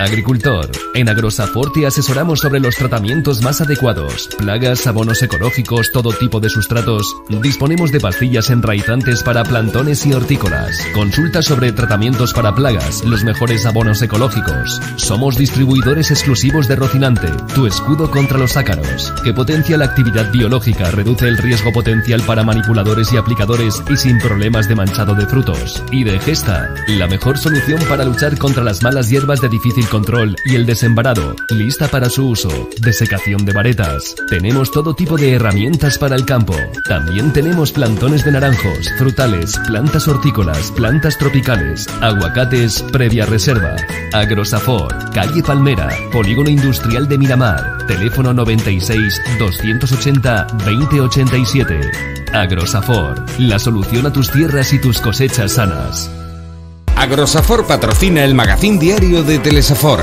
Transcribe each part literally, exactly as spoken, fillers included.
Agricultor. En Agrosafor te asesoramos sobre los tratamientos más adecuados, plagas, abonos ecológicos, todo tipo de sustratos. Disponemos de pastillas enraizantes para plantones y hortícolas. Consulta sobre tratamientos para plagas, los mejores abonos ecológicos. Somos distribuidores exclusivos de Rocinante, tu escudo contra los ácaros, que potencia la actividad biológica, reduce el riesgo potencial para manipuladores y aplicadores y sin problemas de manchado de frutos. Y de Gesta, la mejor solución para luchar contra las malas hierbas de difícil control y el desembarado, lista para su uso. Desecación de varetas. Tenemos todo tipo de herramientas para el campo. También tenemos plantones de naranjos, frutales, plantas hortícolas, plantas tropicales, aguacates previa reserva. Agrosafor, calle Palmera, Polígono Industrial de Miramar. Teléfono noventa y seis, doscientos ochenta, veinte ochenta y siete. Agrosafor, la solución a tus tierras y tus cosechas sanas. Agrosafor patrocina el magazín diario de Telesafor.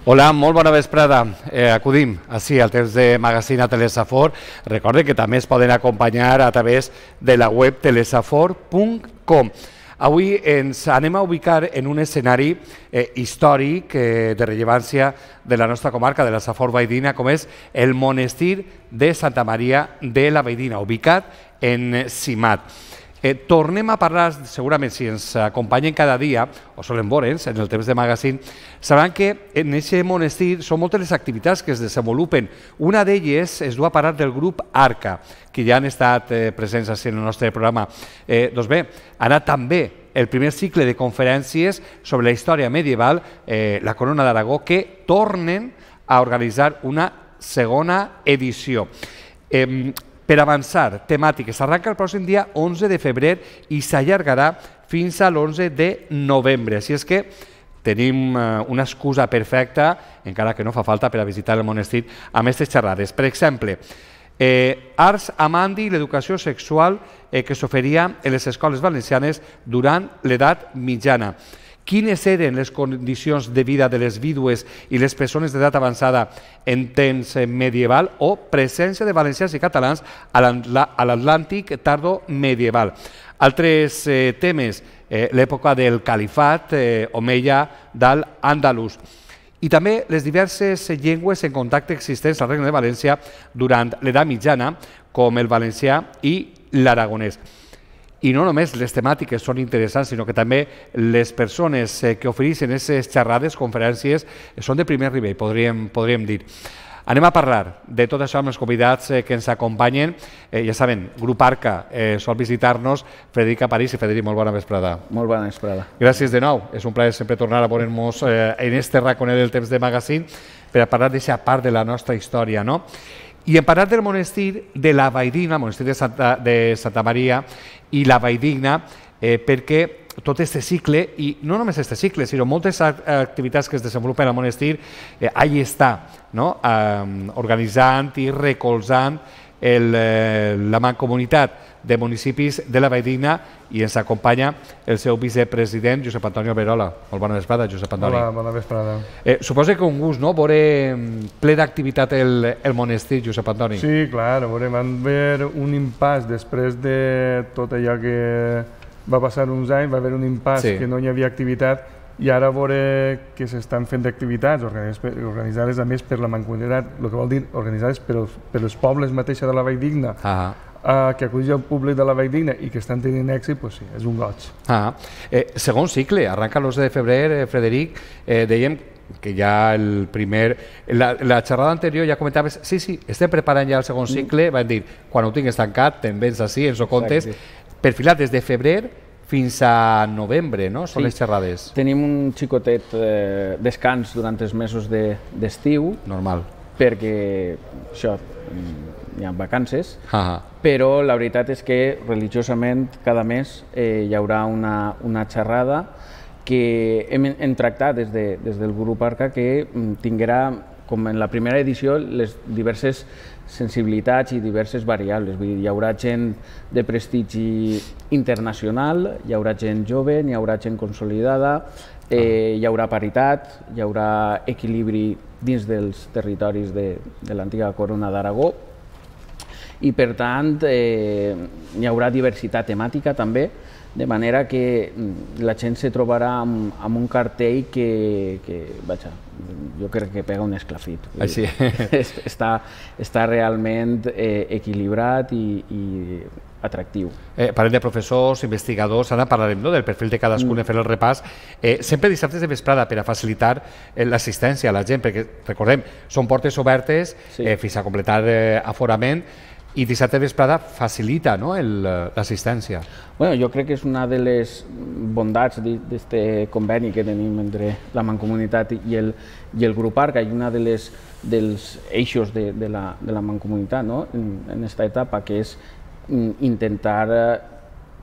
Hola, molt bona vesprada. Eh, acudim així al temps de magazín a Telesafor. Recorde que també es poden acompanyar a través de la web telesafor punt com. Avui ens anem a ubicar en un escenari eh, històric eh, de rellevància de la nostra comarca, de la Safor Valldigna, com és el monestir de Santa Maria de la Valldigna, ubicat en Simat. Eh, tornem a parlar, segurament si ens acompanyen cada dia, o solen veure'ns en el temps de magazín, sabran que en aquest monestir són moltes les activitats que es desenvolupen. Una d'elles es du a parar del grup Arca, que ja han estat eh, presents en el nostre programa. Eh, doncs bé, ha anat també el primer cicle de conferències sobre la història medieval, eh, la Corona d'Aragó, que tornen a organitzar una segona edició. Eh, Per avançar, temàtiques, arranca el pròxim dia onze de febrer i s'allargarà fins a l'onze de novembre. Així és que tenim una excusa perfecta, encara que no fa falta, per a visitar el monestir amb aquestes xerrades. Per exemple, eh, Ars Amandi i l'educació sexual eh, que s'oferia en les escoles valencianes durant l'edat mitjana. Quines eren les condicions de vida de les vídues i les persones d'edat avançada en temps medieval, o presència de valencians i catalans a l'Atlàntic tardo-medieval. Altres eh, temes, eh, l'època del califat, eh, omeia d'Al-Àndalus, i també les diverses llengües en contacte existents al Regne de València durant l'edat mitjana, com el valencià i l'aragonès. I no només les temàtiques són interessants, sinó que també les persones que ofereixen aquestes xerrades, conferències, són de primer nivell, podríem, podríem dir. Anem a parlar de tot això amb els convidats que ens acompanyen. Eh, ja saben, Grup Arca eh, sol visitar-nos, Frederic Aparís. I Frederic, molt bona vesprada. Molt bona vesprada. Gràcies de nou. És un plaer sempre tornar a veure-nos eh, en este raconet del temps de magazín per a parlar d'aquesta part de la nostra història, no? I hem parlat del monestir de la Valldigna, el monestir de Santa, de Santa Maria i la Valldigna, eh, perquè tot aquest cicle, i no només aquest cicle, sinó moltes activitats que es desenvolupen al monestir, eh, allà està, no? eh, organitzant i recolzant el, eh, la mancomunitat de municipis de la Valldigna, i ens acompanya el seu vicepresident, Josep Antoni Alberola. Molt bona vesprada, Josep Antoni. Hola, bona vesprada. Eh, suposo que un gust, no?, veure ple d'activitat el, el monestir, Josep Antoni. Sí, clar, veurem, van haver un impàs després de tot allò que va passar uns anys, va haver un impàs sí. que no hi havia activitat, i ara veure que s'estan fent activitats organitzades a més per la mancomunitat, el que vol dir organitzades per els, per els pobles mateixos de la Valldigna, ah. Uh, que acudeix al públic de la Valldigna i que estan tenint èxit, doncs sí, és un goig. Ah. Eh, segon cicle, arranca l'onze de febrer, eh, Frederic, eh, dèiem que ja el primer... La, la xerrada anterior ja comentaves, sí, sí, estem preparant ja el segon cicle, van dir, quan ho tingues tancat, te'n vens així, ens ho contes, perfilat des de febrer fins a novembre, no? Són Sí. les xerrades. Tenim un xicotet eh, descans durant els mesos de- d'estiu, Normal. perquè això, mm, hi ha vacances, Ah, però la veritat és que religiosament cada mes eh, hi haurà una, una xerrada que hem, hem tractat des, de, des del grup Arca que mm, tinguerà, com en la primera edició, les diverses sensibilitats i diverses variables. Vull dir, hi haurà gent de prestigi internacional, hi haurà gent jove, hi haurà gent consolidada, eh, hi haurà paritat, hi haurà equilibri dins dels territoris de, de l'antiga Corona d'Aragó, i per tant eh, hi haurà diversitat temàtica també, de manera que la gent se trobarà amb, amb un cartell que, que vaja, jo crec que pega un esclafit. Així. Està, està realment eh, equilibrat i, i atractiu. Eh, parlem de professors, investigadors, ara parlarem, no?, del perfil de cadascun, mm. fer el repàs. Eh, sempre dissabtes de vesprada per a facilitar eh, l'assistència a la gent, perquè, recordem, són portes obertes Sí. eh, fins a completar eh, aforament, i dissabte de vesprada facilita, no?, el, l'assistència. Bueno, jo crec que és una de les bondats d'aquest conveni que tenim entre la Mancomunitat i el, i el grup Arca, i una de les, dels eixos de, de, la, de la Mancomunitat, no?, en aquesta etapa, que és intentar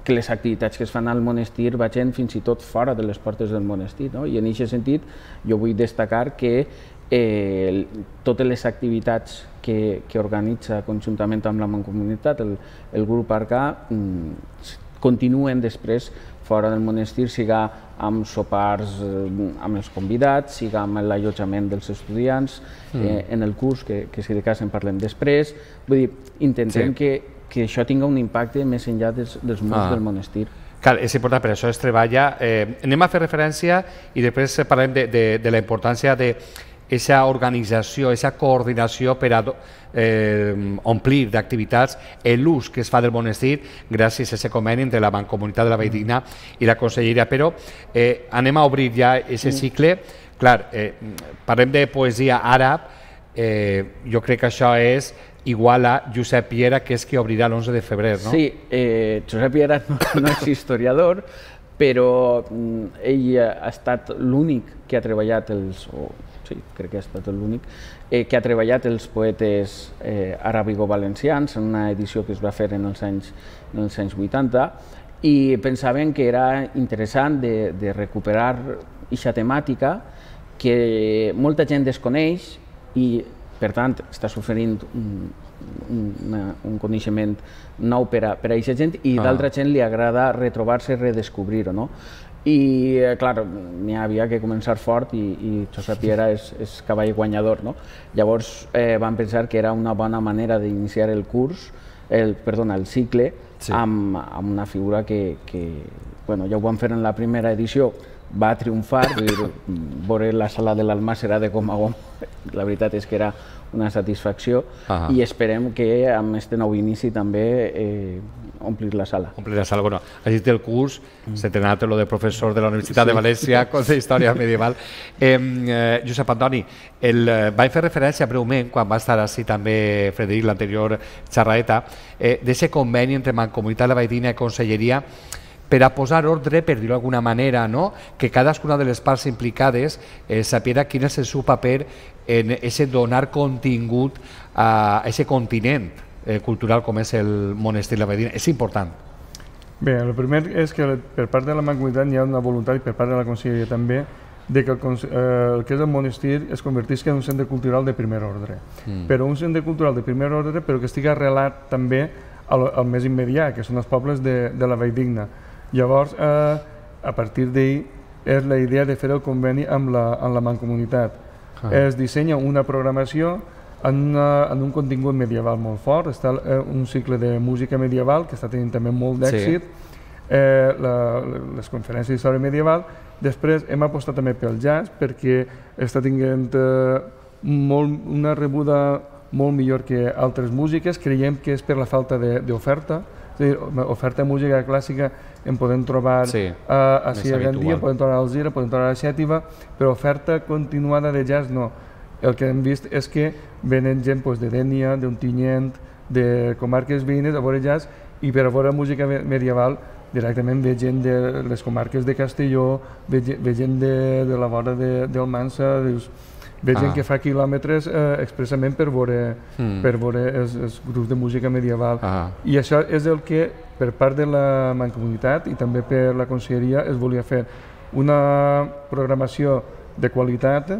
que les activitats que es fan al monestir vagin fins i tot fora de les portes del monestir, no? I en aquest sentit jo vull destacar que eh, totes les activitats que, que organitza conjuntament amb la Mancomunitat el, el grup Arca mm, continuen després fora del monestir, siga amb sopars eh, amb els convidats, siga amb l'allotjament dels estudiants, mm. eh, en el curs, que, que si de cas en parlem després. Vull dir, intentem sí. que que això tinga un impacte més enllà dels, dels murs ah. del monestir. Clar, és important, per això es treballa. Eh, anem a fer referència i després parlem de, de, de la importància d'aquesta organització, aquesta coordinació per a eh, omplir d'activitats l'ús que es fa del monestir gràcies a aquest conveni entre la Mancomunitat de la Valldigna i la Conselleria. Però eh, anem a obrir ja aquest cicle. Clar, eh, parlem de poesia àrab, eh, jo crec que això és igual a Josep Piera, que és qui obrirà l'onze de febrer, no? Sí, eh, Josep Piera no, no és historiador, però mm, ell ha estat l'únic que ha treballat els, o sí, crec que ha estat l'únic, eh, que ha treballat els poetes eh, aràbigo-valencians en una edició que es va fer en els anys, en els anys vuitanta, i pensaven que era interessant de, de recuperar aquesta temàtica que molta gent desconeix i per tant, està oferint un, un, un coneixement nou per a, per a aquesta gent i ah. d'altra gent li agrada retrobar-se i redescobrir-ho, no? I, clar, n'hi havia que començar fort i, i Josep Piera és, és cavall guanyador, no? Llavors eh, van pensar que era una bona manera d'iniciar el curs, el, perdona, el cicle, sí. amb, amb una figura que, que, bueno, ja ho van fer en la primera edició, va triomfar, vull dir, veure la sala de l'Almàssera de Comagom, la veritat és que era una satisfacció ah. i esperem que amb aquest nou inici també eh, omplir la sala. Omplir la sala, bueno, has dit el curs, mm. se t'ha anat lo de professor de la Universitat sí. de València, cosa d'història medieval. Eh, eh, Josep Antoni, el, eh, vaig fer referència breument, quan va estar així també Frederic, l'anterior xerraeta, eh, d'aquest conveni entre Mancomunitat de la Valldigna i Conselleria per a posar ordre, per dir-ho d'alguna manera, no? Que cadascuna de les parts implicades eh, sapiera quin és el seu paper en ese donar contingut a aquest continent eh, cultural com és el monestir de la Valldigna. És important. Bé, el primer és que per part de la Mancomunitat hi ha una voluntat, i per part de la Conselleria també, de que el, eh, el que és el monestir es convertisca en un centre cultural de primer ordre. Mm. Però un centre cultural de primer ordre, però que estigui arrelat també al, al més immediat, que són els pobles de, de la Valldigna. Llavors, eh, a partir d'ahir, és la idea de fer el conveni amb la, amb la Mancomunitat. Ah. Es dissenya una programació en, una, en un contingut medieval molt fort. Està eh, un cicle de música medieval que està tenint també molt d'èxit, sí. eh, la, les conferències d'història medieval. Després hem apostat també pel jazz perquè està tinguent eh, molt, una rebuda molt millor que altres músiques. Creiem que és per la falta d'oferta. Oferta de música clàssica en podem trobar sí, a, a Cia Gandia, podem trobar a Alzira, podem trobar a Xètiva, però oferta continuada de jazz no. El que hem vist és que venen gent pues, de Dénia, d'Ontinyent, de comarques veïnes a veure jazz, i per a veure música medieval directament ve gent de les comarques de Castelló, ve, ve gent de, de la vora de, del Mansa, dius, ve gent ah. que fa quilòmetres eh, expressament per veure, mm. per veure els, els grups de música medieval. Ah. I això és el que, per part de la Mancomunitat i també per la Conselleria, es volia fer una programació de qualitat,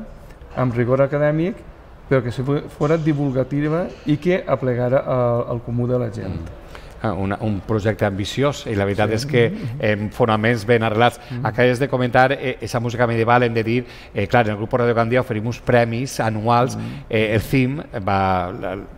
amb rigor acadèmic, però que fos divulgativa i que aplegara al, al comú de la gent. Mm. Un, un projecte ambiciós i la veritat sí. és que eh, fonaments ben arrelats. Mm. Acabes de comentar aquesta eh, música medieval, hem de dir, eh, clar, en el grup Radio Gandia oferim uns premis anuals, mm. eh, el C I M va,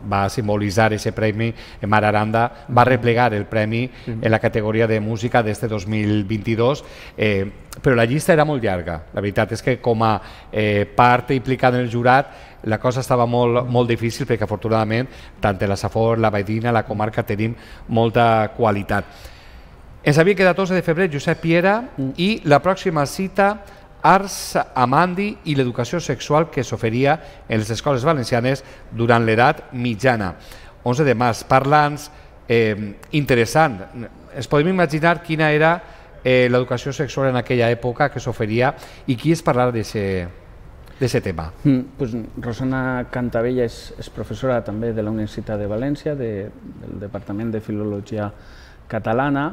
va simbolitzar aquest premi, Mar Aranda va replegar el premi mm. en la categoria de música d'este dos mil vint-i-dos, eh, però la llista era molt llarga. La veritat és que com a eh, part implicada en el jurat la cosa estava molt, molt difícil perquè afortunadament tant la Safor, la Baidina, la comarca tenim molta qualitat. Ens havia quedat onze de febrer Josep Piera mm. i la pròxima cita Arts Amandi i l'educació sexual que s'oferia en les escoles valencianes durant l'edat mitjana. onze de març, parla'ns eh, interessant. Ens podem imaginar quina era eh, l'educació sexual en aquella època que s'oferia i qui es parlar d'aquest d'aquest tema. Mm, pues, Rosana Cantabella és, és professora també de la Universitat de València, de, del Departament de Filologia Catalana,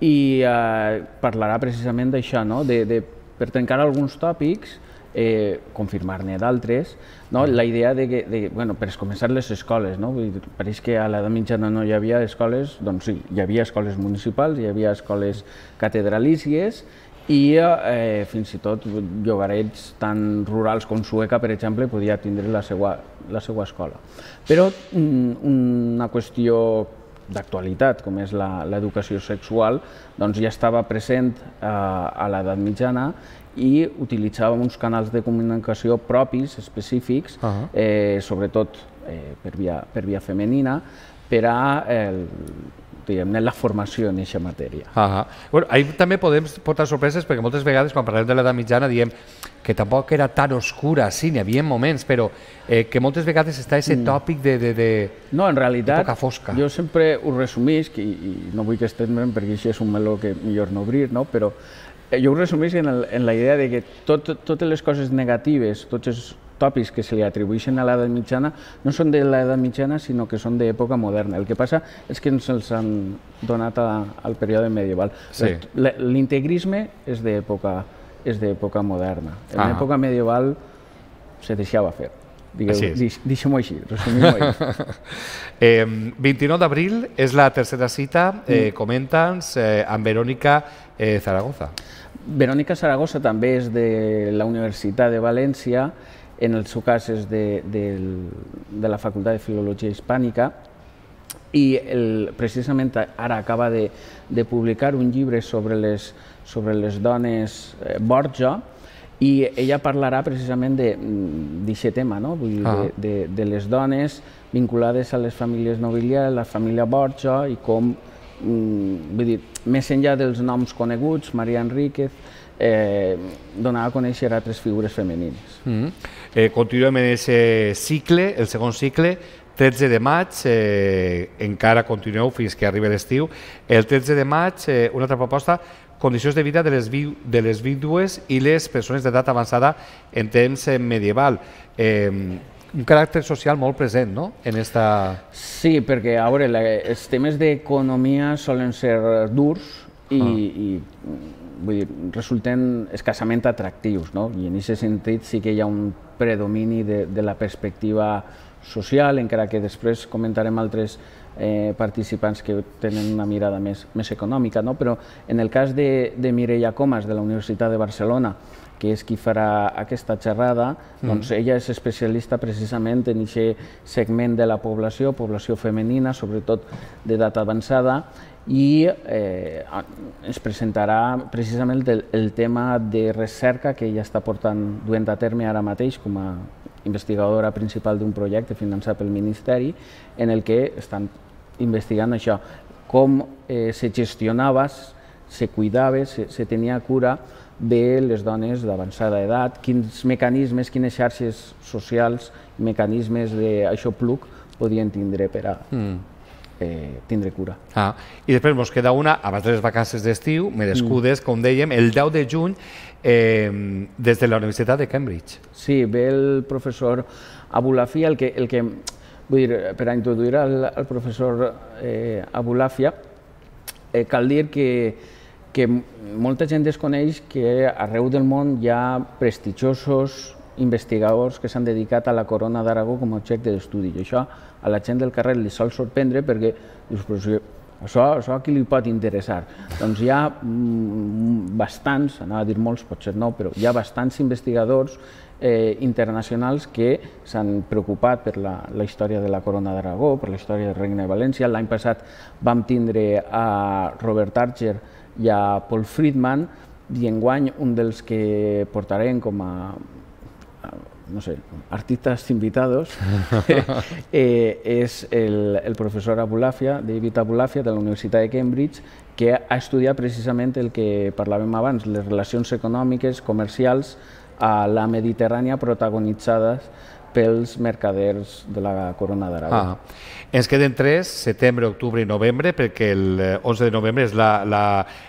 i eh, parlarà precisament d'això, no? de, de, per trencar alguns tòpics, eh, confirmar-ne d'altres, no? La idea de que, de, bueno, per començar les escoles, no? Vull dir, pareix que a l'edat mitjana no hi havia escoles, doncs sí, hi havia escoles municipals, hi havia escoles catedralícies, i eh, fins i tot llogarets tan rurals com Sueca, per exemple, podia tindre la seva, la seva escola. Però mm, una qüestió d'actualitat, com és l'educació sexual, doncs ja estava present eh, a l'edat mitjana i utilitzava uns canals de comunicació propis, específics, uh-huh. eh, sobretot eh, per, via, per via femenina, per a el, diguem-ne, la formació en aquesta matèria. Uh-huh. Bueno, ahir també podem portar sorpreses perquè moltes vegades quan parlem de l'edat mitjana diem que tampoc era tan oscura, sí, n'hi havia moments, però eh, que moltes vegades està aquest tòpic de, de, de no, en realitat, època fosca. Jo sempre ho resumisc, i, i no vull que estiguem perquè això és un meló que millor no obrir, no? Però eh, jo ho resumisc en, el, en la idea de que tot, totes les coses negatives, tots els tòpics que se li atribueixen a l'edat mitjana no són de l'edat mitjana, sinó que són d'època moderna. El que passa és que ens els han donat a, al període medieval. Sí. L'integrisme és d'època és d'època moderna. En ah. època medieval se deixava fer. Deixem-ho així, resumim-ho així. eh, vint-i-nou d'abril és la tercera cita, eh, comenta'ns, eh, amb Verònica eh, Zaragoza. Verònica Zaragoza també és de la Universitat de València, en el seu cas és de, de, de la Facultat de Filologia Hispànica, i el, precisament ara acaba de, de publicar un llibre sobre les, sobre les dones eh, Borja, i ella parlarà precisament d'aquest tema, no? Vull dir, ah. de, de, de les dones vinculades a les famílies nobiliàries, la família Borja, i com, mm, vull dir, més enllà dels noms coneguts, Maria Enríquez, eh, donar a conèixer altres figures femenines. Mm-hmm. eh, continuem en aquest cicle, el segon cicle, tretze de maig, eh, encara continueu fins que arribi l'estiu. El tretze de maig, eh, una altra proposta, condicions de vida de les, vi de les vídues i les persones d'edat avançada en temps medieval. Eh, un caràcter social molt present, no?, en esta... Sí, perquè, a veure, la, els temes d'economia solen ser durs i, ah. i vull dir, resulten escassament atractius, no? I en aquest sentit sí que hi ha un predomini de, de la perspectiva social, encara que després comentarem altres eh, participants que tenen una mirada més, més econòmica, no? Però en el cas de, de Mireia Comas, de la Universitat de Barcelona, que és qui farà aquesta xerrada, mm. doncs ella és especialista precisament en aquest segment de la població, població femenina, sobretot d'edat avançada, i eh, ens presentarà precisament el, el tema de recerca que ella està portant duent a terme ara mateix com a investigadora principal d'un projecte finançat pel Ministeri, en el que estan investigant això, com eh, se gestionava, se cuidava, se, se tenia cura de les dones d'avançada edat, quins mecanismes, quines xarxes socials, mecanismes d'aixopluc podien tindre per a... Mm. eh, tindre cura. Ah, I després ens queda una, abans de les vacances d'estiu, merescudes, mm. com dèiem, el deu de juny, eh, des de la Universitat de Cambridge. Sí, ve el professor Abulafia, el que, el que vull dir, per a introduir al, al professor eh, Abulafia, eh, cal dir que, que molta gent desconeix que arreu del món hi ha prestigiosos investigadors que s'han dedicat a la Corona d'Aragó com a objecte d'estudi. I això a la gent del carrer li sol sorprendre perquè dius, però si això, això a qui li pot interessar? Doncs hi ha mm, bastants, anava a dir molts, potser no, però hi ha bastants investigadors eh, internacionals que s'han preocupat per la, la història de la Corona d'Aragó, per la història del Regne de València. L'any passat vam tindre a Robert Archer i a Paul Friedman, i enguany un dels que portarem com a no sé, artistas invitados, eh, és el, el professor Abulafia, David Abulafia, de la Universitat de Cambridge, que ha estudiat precisament el que parlàvem abans, les relacions econòmiques, comercials a la Mediterrània protagonitzades pels mercaders de la Corona d'Aragó. Ah. Ens queden tres, setembre, octubre i novembre, perquè el onze de novembre és la, la,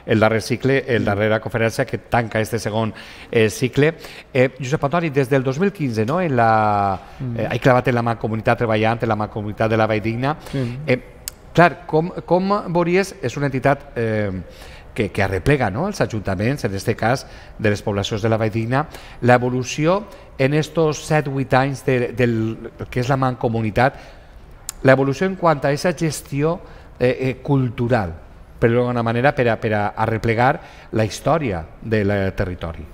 el darrer cicle, el darrera conferència que tanca este segon eh, cicle. Eh, Josep Antoni, des del dos mil quinze, no? En la, eh, he clavat en la Mancomunitat treballant, en la Mancomunitat de la Valldigna. Sí. Eh, clar, com, com veuries, és una entitat eh, que, que arreplega, no?, els ajuntaments, en aquest cas de les poblacions de la Valldigna, l'evolució en estos set o vuit anys de, del que és la Mancomunitat, l'evolució en quant a aquesta gestió eh, eh, cultural, per d'alguna manera, per a, per a arreplegar la història del territori.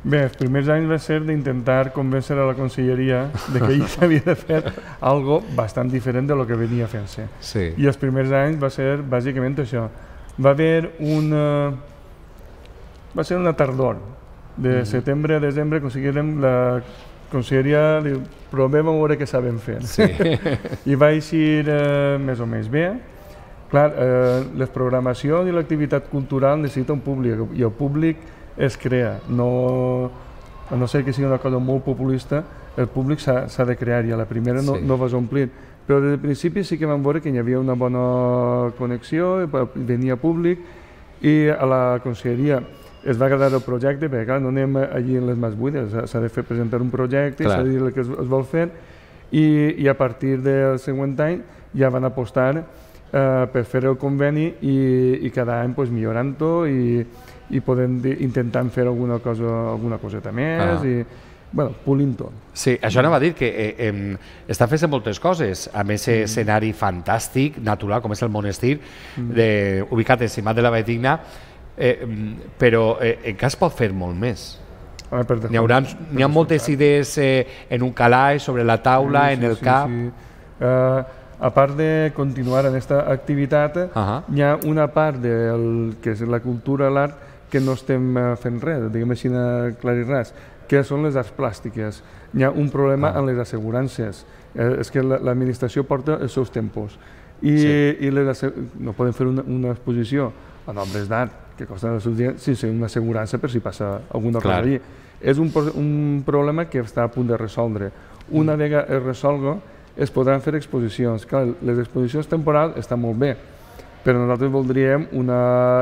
Bé, els primers anys va ser d'intentar convèncer a la conselleria de que ell s'havia de fer algo bastant diferent de lo que venia fent-se. Sí. I els primers anys va ser bàsicament això. Va haver una... va ser una tardor. De mm. setembre a desembre aconseguirem la conselleria, diu, provem a veure què sabem fer. Sí. I va eixir eh, més o menys bé. Clar, eh, les programacions i l'activitat cultural necessita un públic, i el públic es crea. No, a no ser que sigui una cosa molt populista, el públic s'ha de crear, i a la primera no, sí. no vas omplir. Però des del principi sí que vam veure que hi havia una bona connexió, venia públic, i a la conselleria es va agradar el projecte, perquè clar, no anem allí en les mans buides, s'ha de fer presentar un projecte, s'ha de dir el que es, es vol fer, i, i a partir del següent any ja van apostar eh, per fer el conveni i, i cada any pues, millorant-ho i, i podem intentar fer alguna, cosa, alguna coseta més, ah. i bueno, pulint-ho. Sí, això anava a dir que eh, eh, està fent moltes coses, amb aquest mm. escenari fantàstic, natural, com és el monestir, mm. de, ubicat encimat de la Valldigna, Eh, però eh, en cas pot fer molt més. Ah, N'hi haurà, ha moltes idees eh, en un calaix, sobre la taula, sí, sí, en el sí, cap. Sí. Uh, a part de continuar en aquesta activitat, uh -huh. hi ha una part del que és la cultura, l'art, que no estem fent res, diguem així clar i ras, que són les arts plàstiques. Hi ha un problema ah. en les assegurances. Eh, és que l'administració porta els seus tempos. I, sí. i les, no podem fer una, una exposició a obres d'art que costen els seus diners sense una assegurança per si passa alguna Clar. cosa allí. És un, un problema que està a punt de resoldre. Una mm. vegada es resolga, es podran fer exposicions. Clar, les exposicions temporals estan molt bé, però nosaltres voldríem una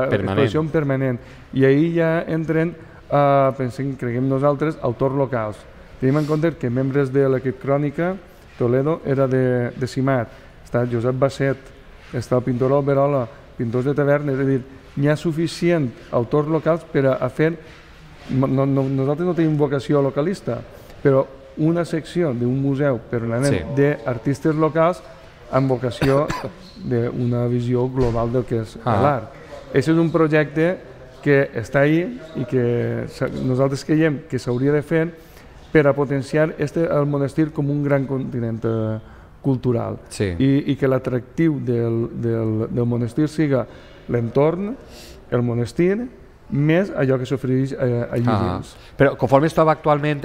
permanent. exposició permanent. I ahir ja entren, uh, pensem, creguem nosaltres, autors locals. Tenim en compte que membres de l'equip Crònica, Toledo era de, de Simat, està Josep Basset, està el pintor Alberola, pintors de tavernes, és a dir, n'hi ha suficient autors locals per a, a fer, no, no, nosaltres no tenim vocació localista, però una secció d'un museu permanent sí. d'artistes locals amb vocació d'una visió global del que és ah. l'art. Aquest és un projecte que està ahí i que nosaltres creiem que s'hauria de fer per a potenciar este, el monestir com un gran continent eh, cultural sí. I, i que l'atractiu del, del, del monestir siga l'entorn, el monestir, més allò que s'ofereix eh, allí ah. dins. Però conforme es troba actualment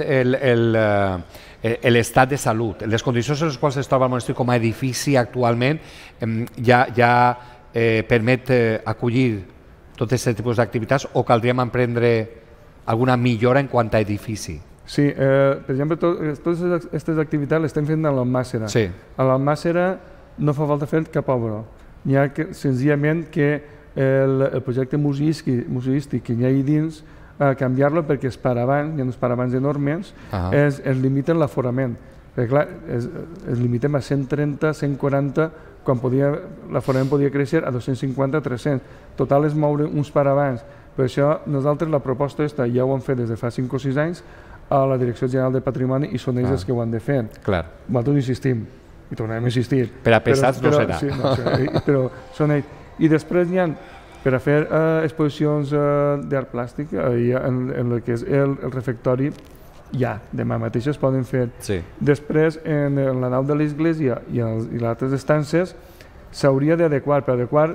l'estat de salut, les condicions en les quals es troba el monestir com a edifici actualment, eh, ja, ja eh, permet eh, acollir tot aquest tipus d'activitats o caldríem emprendre alguna millora en quant a edifici? Sí, eh, per exemple, to, totes aquestes activitats les estem fent a l'Almàssera. Sí. A l'Almàssera no fa falta fer cap obra. N'hi ha que, senzillament que el, el projecte museístic que hi ha allà dins, eh, canviar-lo perquè els paravans, hi ha uns paravans enormes, uh -huh. es, es limiten l'aforament. Perquè clar, es, es limitem a cent trenta, cent quaranta, quan l'aforament podia créixer a dos-cents cinquanta, tres-cents. Total és moure uns paravans. Per això nosaltres la proposta aquesta ja ho hem fet des de fa cinc o sis anys a la Direcció General de Patrimoni i són ells els que ho han de fer. Clar. Nosaltres insistim, i tornarem a insistir. Per a pesats no serà. Sí, no sé, però són ells. I després hi ha, per a fer eh, exposicions eh, d'art plàstic, eh, en, en el que és el, el refectori, ja, demà mateix es poden fer. Sí. Després, en, en la nau de l'església i, els, i les altres estances, s'hauria d'adequar, per adequar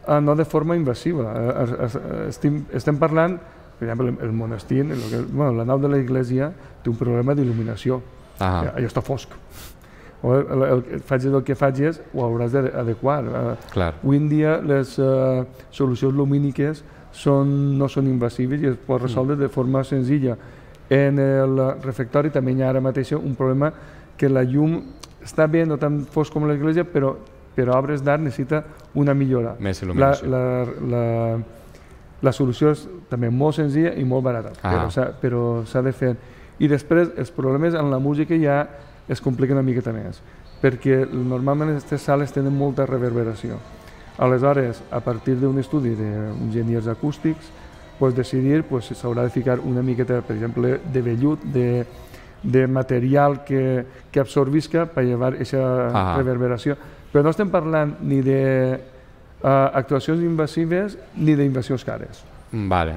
eh, no de forma invasiva. Eh, eh, estem, estem parlant, per exemple, el, el monestir, el que, bueno, la nau de l'església té un problema d'il·luminació. Ah. Allò està fosc. O el, el, el, facis el que facis, ho hauràs d'adequar. Uh, avui en dia les uh, solucions lumíniques són, no són invasives i es pot resoldre mm. de forma senzilla. En el refectori també hi ha ara mateix un problema que la llum està bé, no tan fosc com l'església, però per a obres d'art necessita una millora. Més il·luminació. La, la, la, la solució és també molt senzilla i molt barata, ah. però s'ha de fer. I després els problemes en la música ja es complica una miqueta més, perquè normalment aquestes sales tenen molta reverberació. Aleshores, a partir d'un estudi d'enginyers acústics, pues decidir pues, s'haurà de ficar una miqueta, per exemple, de vellut, de, de material que, que absorbisca per llevar aquesta reverberació. Però no estem parlant ni d'actuacions uh, invasives ni d'invasions cares. Vale,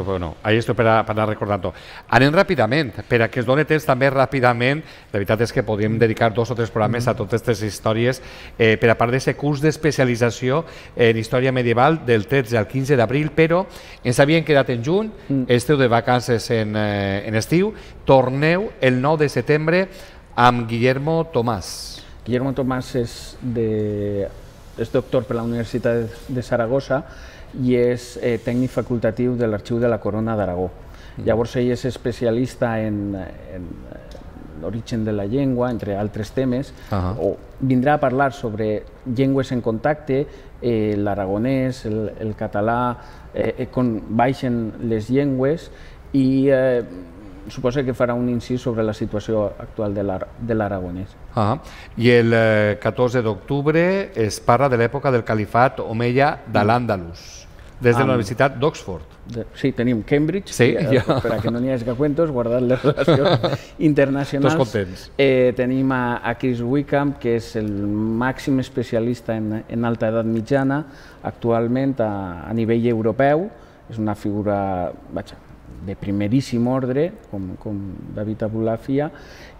bueno, ahí esto per, per anar recordant-ho. Anem ràpidament, per a que es doni temps també ràpidament, la veritat és que podríem dedicar dos o tres programes a totes aquestes històries, eh, per a part d'aquest curs d'especialització en història medieval del tretze al quinze d'abril, però ens havien quedat en juny, mm. esteu de vacances en, eh, en estiu, torneu el nou de setembre amb Guillermo Tomàs. Guillermo Tomàs és, de, és doctor per la Universitat de Saragossa i és eh, tècnic facultatiu de l'Arxiu de la Corona d'Aragó. Mm. Llavors ell és especialista en, en l'origen de la llengua, entre altres temes, uh-huh. o vindrà a parlar sobre llengües en contacte, eh, l'aragonès, el, el català, eh, com baixen les llengües, i eh, suposa que farà un incís sobre la situació actual de l'aragonès. Ah, I el eh, catorze d'octubre es parla de l'època del califat omeia de l'Àndalus, des de la Universitat d'Oxford. Sí, tenim Cambridge, sí, ja. per a que no n'hi hagi cuentos, guardant les relacions internacionals. Tots contents. Eh, tenim a, a Chris Wickham, que és el màxim especialista en, en alta edat mitjana, actualment a, a nivell europeu. És una figura vaja, de primeríssim ordre, com, com David Abulafia,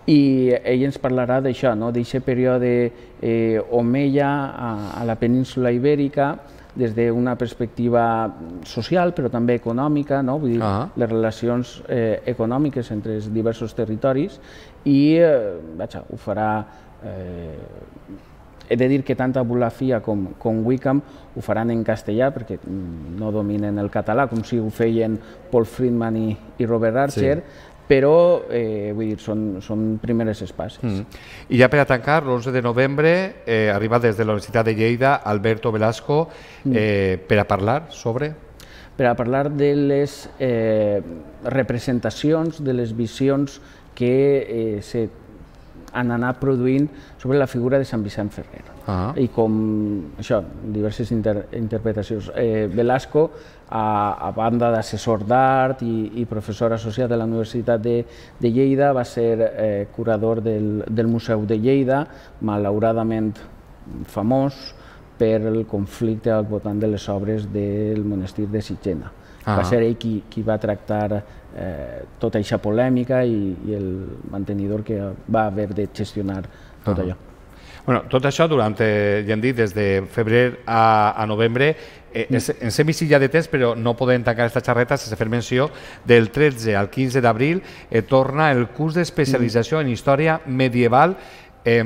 i ell ens parlarà d'això, no? d'aquest període eh, omeia a, a la península ibèrica, des d'una perspectiva social, però també econòmica, no? Vull dir, uh-huh. les relacions eh, econòmiques entre els diversos territoris, i eh, vaja, ho farà... Eh, he de dir que tant Abulafia com, com Wickham ho faran en castellà, perquè no dominen el català, com si ho feien Paul Friedman i, i Robert Archer, sí. però eh, vull dir, són, són primeres espases. Mm. I ja per a tancar, l'onze de novembre eh, arriba des de la Universitat de Lleida Alberto Velasco eh, mm. per a parlar sobre... Per a parlar de les eh, representacions, de les visions que eh, se han anat produint sobre la figura de Sant Vicent Ferrer. Uh-huh. I com, això, diverses inter interpretacions. Eh, Velasco, a, a banda d'assessor d'art i, i professor associat de la Universitat de, de Lleida, va ser eh, curador del, del Museu de Lleida, malauradament famós per el conflicte al voltant de les obres del monestir de Sitgena. Uh-huh. Va ser ell qui, qui va tractar eh, tota aquesta polèmica i, i el mantenidor que va haver de gestionar tot uh-huh. allò. Bueno, tot això durant, eh, ja hem dit, des de febrer a, a novembre, eh, mm. ens hem vist ja de temps, però no podem tancar aquesta xarreta sense fer menció del tretze al quinze d'abril, eh, torna el curs d'especialització mm. en història medieval. Eh,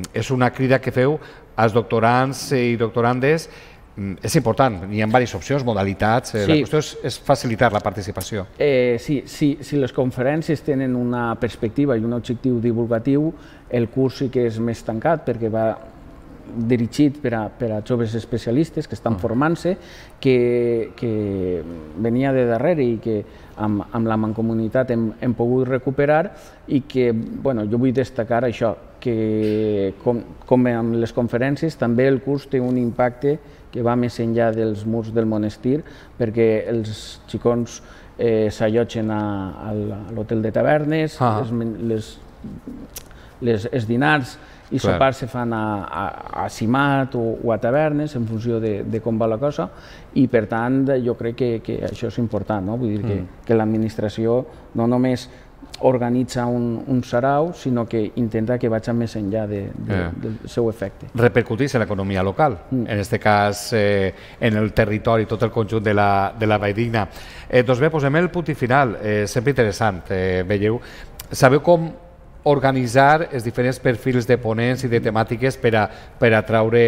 és una crida que feu als doctorants i doctorandes. És important, hi ha diverses opcions, modalitats, sí. La qüestió és, és facilitar la participació. Eh, sí, sí, si les conferències tenen una perspectiva i un objectiu divulgatiu, el curs sí que és més tancat perquè va dirigit per a, per a joves especialistes que estan formant-se, que, que venia de darrere i que amb, amb la mancomunitat hem, hem pogut recuperar i que, bueno, jo vull destacar això, que com, com amb les conferències també el curs té un impacte que va més enllà dels murs del monestir, perquè els xicons eh, s'allotgen a, a l'hotel de tavernes, ah. les, les, les, els dinars i Clar. sopars se fan a, a, a Simat o, o a tavernes en funció de, de com va la cosa, i per tant jo crec que, que això és important, no? Vull dir que, mm. que l'administració no només organitza un, un sarau, sinó que intenta que vagi més enllà de, de, yeah. del seu efecte. Repercutís en l'economia local, mm. en aquest cas eh, en el territori, tot el conjunt de la, de la Valldigna. Eh, doncs bé, posem el punt i final, eh, sempre interessant, eh, veieu. Sabeu com organitzar els diferents perfils de ponents i de temàtiques per a, per atraure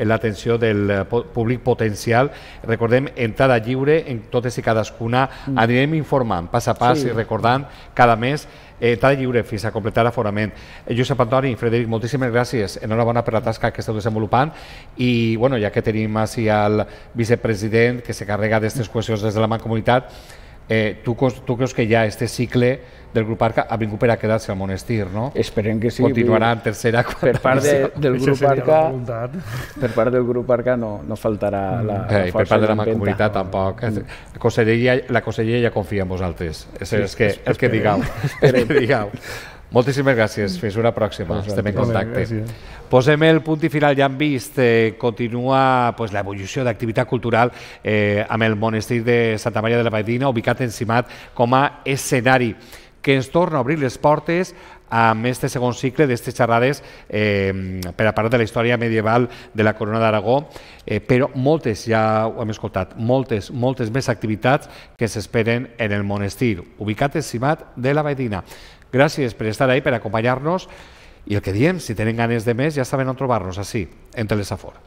l'atenció del públic potencial. Recordem, entrada lliure en totes i cadascuna. Mm. Anirem informant pas a pas sí. i recordant cada mes eh, entrada lliure fins a completar l'aforament. Eh, Josep Antoni, Frederic, moltíssimes gràcies. Enhorabona per la tasca que esteu desenvolupant i, bueno, ja que tenim així el vicepresident que se carrega d'aquestes qüestions des de la Mancomunitat, Eh, tu, tu creus que ja este cicle del grup Arca ha vingut per a quedar-se al monestir, no? Esperem que sí. Continuarà en tercera. Per part de, del grup Arca, per part del grup Arca no, no faltarà la, la eh, força. Per part de la Mancomunitat tampoc. Mm. La conselleria, la conselleria ja confia en vosaltres. És sí, el que, el que digueu. El que digueu. Moltíssimes gràcies, fins una pròxima, estem en contacte. Posem el punt i final, ja hem vist, eh, continua pues, l'evolució d'activitat cultural eh, amb el monestir de Santa Maria de la Valldigna, ubicat en Simat com a escenari, que ens torna a obrir les portes amb este segon cicle d'estes xerrades eh, per a parlar de la història medieval de la Corona d'Aragó, eh, però moltes, ja ho hem escoltat, moltes, moltes més activitats que s'esperen en el monestir, ubicat en Simat de la Valldigna. Gràcies per estar ahí, per acompanyar-nos, i el que diem, si tenen ganes de més, ja saben on trobar-nos, així, en Telesafor.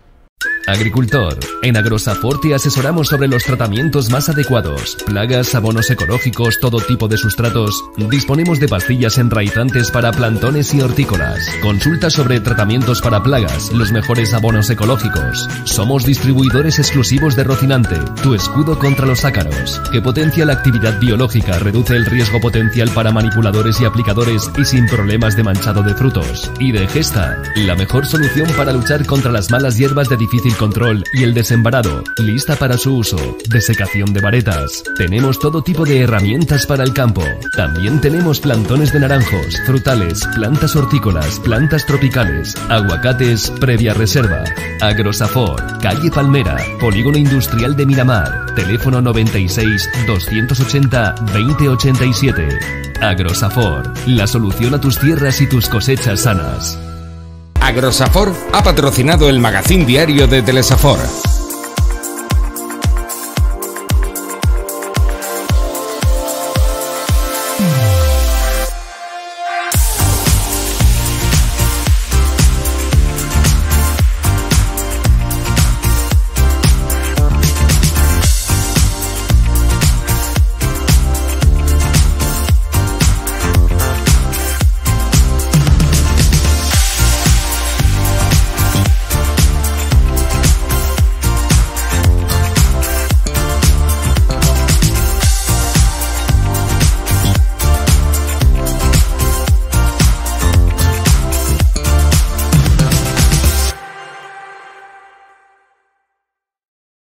Agricultor. En Agrosafor te asesoramos sobre los tratamientos más adecuados. Plagas, abonos ecológicos, todo tipo de sustratos. Disponemos de pastillas enraizantes para plantones y hortícolas. Consulta sobre tratamientos para plagas, los mejores abonos ecológicos. Somos distribuidores exclusivos de Rocinante, tu escudo contra los ácaros, que potencia la actividad biológica, reduce el riesgo potencial para manipuladores y aplicadores y sin problemas de manchado de frutos. Y de Gesta, la mejor solución para luchar contra las malas hierbas de difícil control y el desembarado, lista para su uso. Desecación de varetas. Tenemos todo tipo de herramientas para el campo. También tenemos plantones de naranjos, frutales, plantas hortícolas, plantas tropicales, aguacates previa reserva. Agrosafor, calle Palmera, Polígono Industrial de Miramar. Teléfono noventa y seis, doscientos ochenta, veinte ochenta y siete. Agrosafor, la solución a tus tierras y tus cosechas sanas. Agrosafor ha patrocinado el magazín diario de Telesafor.